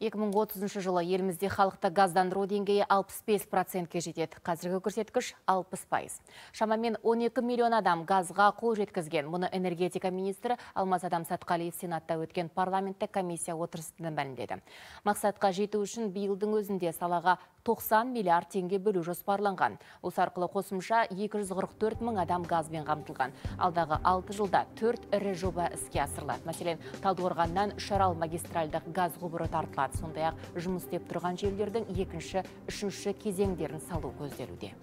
2030 жылы елімізде халықты газдандыру деңгейі 65%-ке жетеді. Қазіргі көрсеткіш 60%. Шамамен 12 миллион адам газға қол жеткізген. Мұны энергетика министрі Алмазадам Сатқалиев Сенатта өткен парламенттік комиссия отырысында мәлімдеді. Мақсатқа жету үшін биылдың өзінде салаға 90 миллиард теңге бөлу жоспарланған. Осы арқылы қосымша 244 мың адам газбен қамтылған. Алдағы 6 жылда 4 ірі жоба іске асырылады. Мәселен, Талдықорғаннан Үшарал магистральдық газ құбыры тартылады. Сондай-ақ жұмыс істеп тұрған желілердің екінші, үшінші кезеңдерін салу көзделуде.